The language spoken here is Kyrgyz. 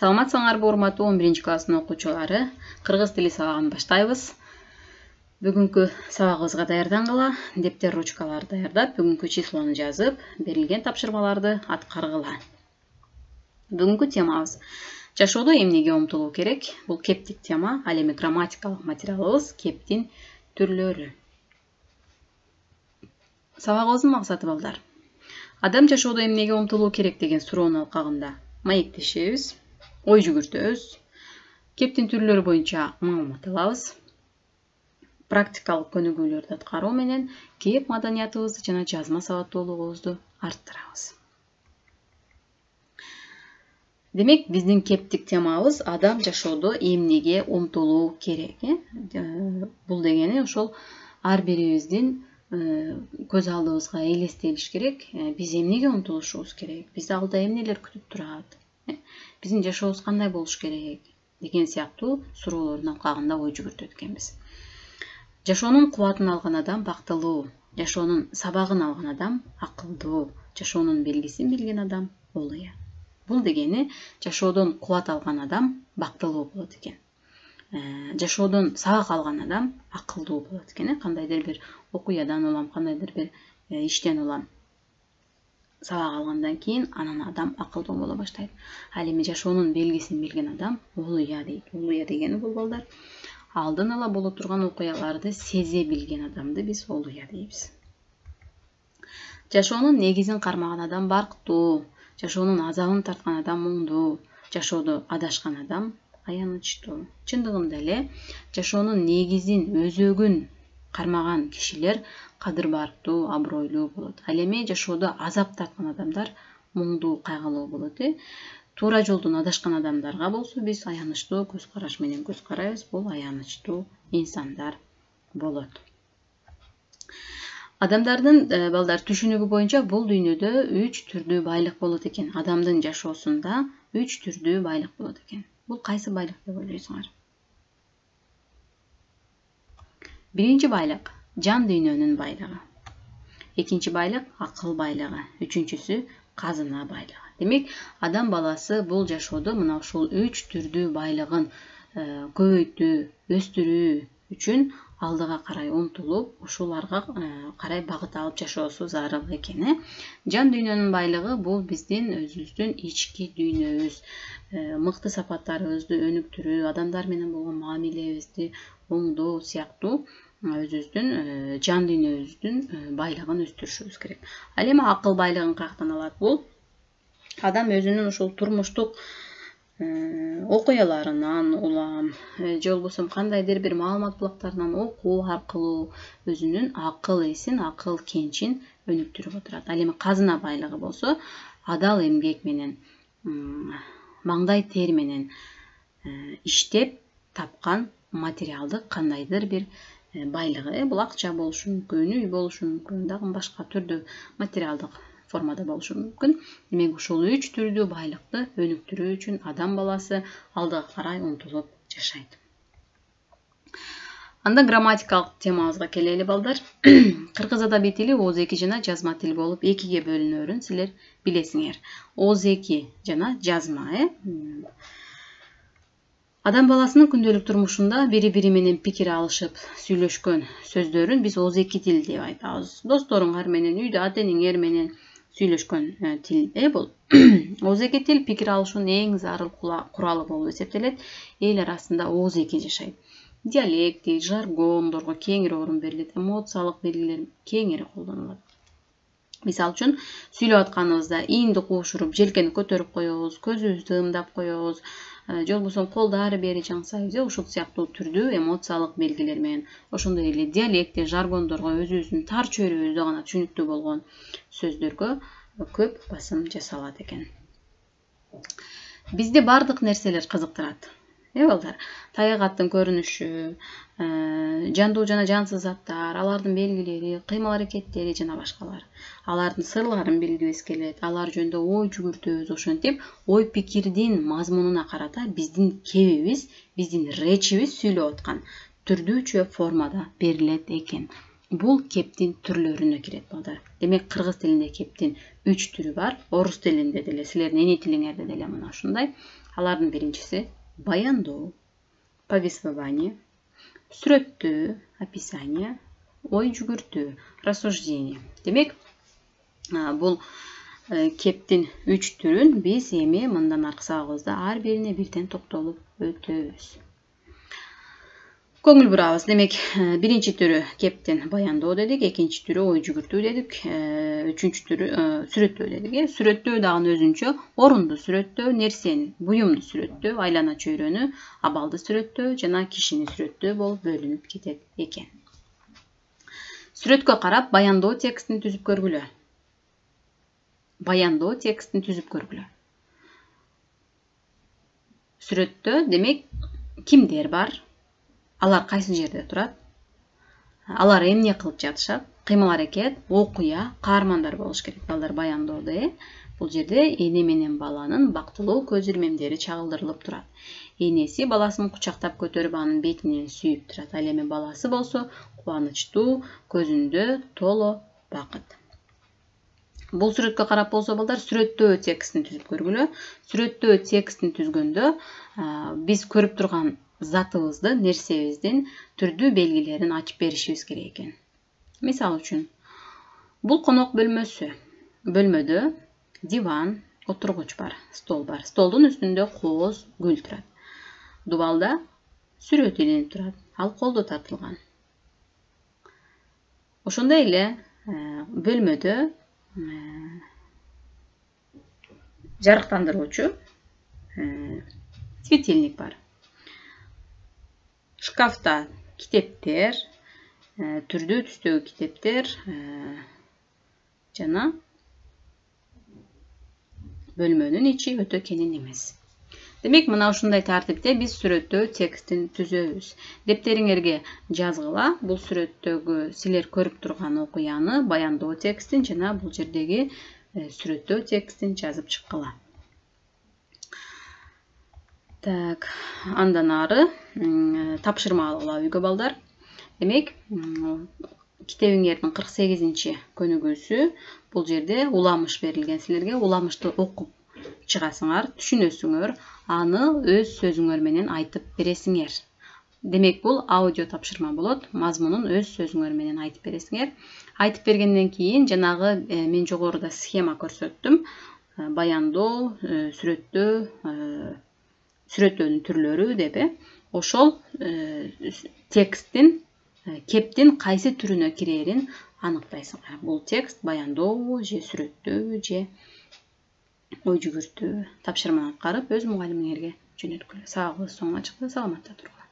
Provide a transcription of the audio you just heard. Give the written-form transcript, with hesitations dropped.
Саламатсыңарбы урматтуу 11-класстын окуучулары? Кыргыз тили сабагын баштайбыз. Бүгүнкү сабагыбызга даярдангыла, дептер, ручкалар даярдап, бүгүнкү числону жазып, берилген тапшырмаларды аткаргыла. Бүгүнкү темабыз жашоодо эмнеге умтулуу керек? Бул кептик тема, ал эми грамматикалык материалыбыз кептин түрлөрү. Сабагыбыздын максаты балдар. Адам жашоодо эмнеге умтулуу керек деген суроонун алкагында маектешебиз, ой жүгүртөбүз, кептин түрлөрү боюнча маалымат алабыз, практикалык көнүгүүлөрдү аткаруу менен кеп маданиятыбызды жана жазма сабаттуулугубузду арттырабыз. Демек, биздин кептик темабыз адам жашоодо эмнеге умтулуу керек. Бул дегени ошол ар бирибиздин көз алдыбызга элестелиш керек. Биз эмнеге умтулушубуз керек? Бизди алда эмнелер күтүп турат? Биздин жашообуз кандай болуш керек деген сыяктуу суроолордун алкагында ой жүгүртөт экенбиз. Жашоонун кубатын алган адам бактылуу, жашоонун сабагын алган адам акылдуу, жашоонун белгисин билген адам олуя. Бул дегени жашоодон кубат алган адам бактылуу болот экен. Жашоодон сабак алган адам акылдуу болот экен. Кандайдыр бир окуядан улам, кандайдыр бир иштен улам сабак алгандан кийин анан адам акылдуу боло баштайт. Ал эми жашоонун белгисин билген адам олуя дейт. Олуя дегени бул балдар алдын ала боло турган окуяларды сезе билген адамды биз олуя дейбиз. Жашоонун негизин кармаган адам бактуу, жашоонун азабын тарткан адам муңдуу, жашоодо адашкан адам аянычтуу. Чындыгында эле жашоонун негизин, өзөгүн кармаган кишилер кадыр-барктуу, абройлуу болот. Ал эми жашоодо азап тарткан адамдар муңдуу, кайгылуу болот. Туура жолдон адашкан адамдарга болсо биз аянычтуу көз караш менен көз карайбыз. Бул аянычтуу инсандар болот. Адамдардын балдар түшүнүгү боюнча бул дүйнөдө 3 түрдүү байлык болот экен. Адамдын жашоосунда 3 түрдүү байлык болот экен. Бул кайсы байлык деп ойлойсуңар? Биринчи байлык жан дүйнөнүн байлыгы. Экинчи байлык акыл байлыгы. Үчүнчүсү казына байлыгы. Демек, адам баласы бул жашоодо мына ушул 3 түрдүү байлыгын көбөйтүү, өстүрүү үчүн алдыга карай умтулуп, ушуларга карай багыт алып жашоосу зарыл экен. Жан дүйнөнүн байлыгы бул биздин өзүбүздүн ички дүйнөбүз, мыкты сапаттарыбызды өнүктүрүү, адамдар менен болгон мамилебизди оңдоо сыяктуу өзүбүздүн жан дүйнөбүздүн байлыгын өстүрүшүбүз керек. Ал эми акыл байлыгын каяктан алат? Бул адам өзүнүн ушул турмуштук окуяларынан улам, же болбосо кандайдыр бир маалымат булактарынан окуу аркылуу өзүнүн акыл эсин, акыл кенчин өнүктүрүп отурат. Ал эми казына байлыгы болсо адал эмгек менен, маңдай тер менен иштеп тапкан материалдык кандайдыр бир байлыгы. Бул акча болушу мүмкүн, үй болушу мүмкүн, дагы башка түрдүү материалдык формада болушу мүмкүн. Демек, ушул 3 түрдүү байлыкты өнүктүрүү үчүн адам баласы алдыга карай умтулуп жашайт. Анда грамматикалык темабызга келели балдар. Кыргыз адабий тили ооз-эки жана жазма тил болуп экиге бөлүнөрүн силер билесиңер. Ооз-эки жана жазма. Адам баласынын күндөлүк турмушунда бири-бири менен пикир алышып сүйлөшкөн сөздөрүн биз ооз-эки тил деп айтабыз. Досторуңар менен, үйдө ата-энеңер менен сүйлөшкөн тил бул. Ооз-эки тил пикир алышуунун эң зарыл куралы болуп эсептелет. Эл арасында ооз-эки жашайт. Диалект, жаргондорго кеңири орун берилет, эмоциялык белгилер кеңири колдонулат. Мисалы үчүн сүйлөп атканыбызда иинди куушуруп, желкени көтөрүп коебуз, көзүбүздү ымдап коебуз, же болбосо колду ары бери жаңсайбыз. Ушул сыяктуу түрдүү эмоциялык белгилер менен, ошондой эле диалектте, жаргондорго өзүбүздүн тар чөйрөбүздө гана түшүнүктүү болгон сөздөргө көп басым жасалат экен. Бизди бардык нерселер кызыктырат. Балдар, табигаттын көрүнүшү, жандуу жана жансыз заттар, алардын белгилери, кыймыл-аракеттери жана башкалар. Алардын сырларын билгибиз келет, алар жөнүндө ой жүгүртөбүз. Ошентип, ой пикирдин мазмунуна карата биздин кебибиз, биздин речибиз сүйлөп аткан түрдүүчө формада берилет экен. бул кептин түрлөрүнө кирет балдар. Демек кыргыз тилинде кептин 3 түрү бар. Орус тилинде деле, силердин эне тилиңерде деле мына ушундай. Алардын биринчиси баяндоо, повествование, сүрөттөө, описание, ой жүгүртүү, рассуждение. Демек бул кептин 3 түрүн биз эми мындан аркы сабагыбызда ар бирине бирден токтолуп өтөбүз. Көңүл бурабыз. Демек, биринчи түрү кептин баяндоо дедик, экинчи түрү ой жүгүртүү дедик, үчүнчү түрү сүрөттөө дедик. Сүрөттөө дагы өзүнчө орунду сүрөттөө, нерсени, буюмду сүрөттөө, айлана чөйрөнү, абалды сүрөттөө жана кишини сүрөттөө болуп бөлүнүп кетет экен. Сүрөткө карап баяндоо текстин түзүп көргүлө. Баяндоо текстин түзүп көргүлө. Сүрөттө демек кимдер бар? Алар кайсы жерде турат? Алар эмне кылып жатышат? Кыймыл-аракет, окуя, каармандар болуш керек. Балдар баяндоодо бул жерде эне менен баланын бактылуу көз ирмемдери чагылдырылып турат. Энеси баласын кучактап көтөрүп анын бетинен сүйүп турат. Ал эми баласы болсо кубанычтуу, көзүндө толо бакыт. Бул сүрөткө карап болсо балдар сүрөттөө текстин түзүп көргүлө. Сүрөттөө текстин түзгөндө биз көрүп турган затыбызды, нерсебиздин түрдүү белгилерин ачып беришибиз керек экен. Мисалы үчүн, бул конок бөлмөсү. Бөлмөдө диван, отургуч бар, стол бар. Столдун үстүндө кооз, гүл турат. Дубалда сүрөт илинип турат. Ал колдо тартылган. Ошондой эле бөлмөдө жарыктандыруучу светильник бар. Шкафта китептер, түрдүү түстөгү китептер жана бөлмөнүн ичи өтө кенен эмес. Демек, мына ушундай тартипте биз сүрөттөө текстин түзөбүз. Дептериңерге жазгыла, бул сүрөттөгү силер көрүп турган окуяны, баяндоо текстин жана бул жердеги сүрөттөө текстин жазып чыккыла. Так, андан ары тапшырма алгыла үйгө балдар. Демек, китебиңердин 48-чи көнүгүүсү бул жерде уламыш берилген силерге. Уламышты окуп чыгасыңар, түшүнөсүңөр, аны өз сөзүңөр менен айтып бересиңер. Демек, бул аудио тапшырма болот. Мазмунун өз сөзүңөр менен айтып бересиңер. Айтып бергенден кийин жанагы мен жогоруда схема көрсөттүм. Баяндоо, сүрөттөө, сүрөттөөнүн түрлөрү деп ошол тексттин кептин кайсы түрүнө кирерин аныктайсыңар. Бул текст баяндоо же сүрөттөө же ой жүгүртүү. Тапшырманы аткарып өз мугалимиңерге жөнөткүлө. Сабагыбыз соңуна чыкты. Саламатта тургула.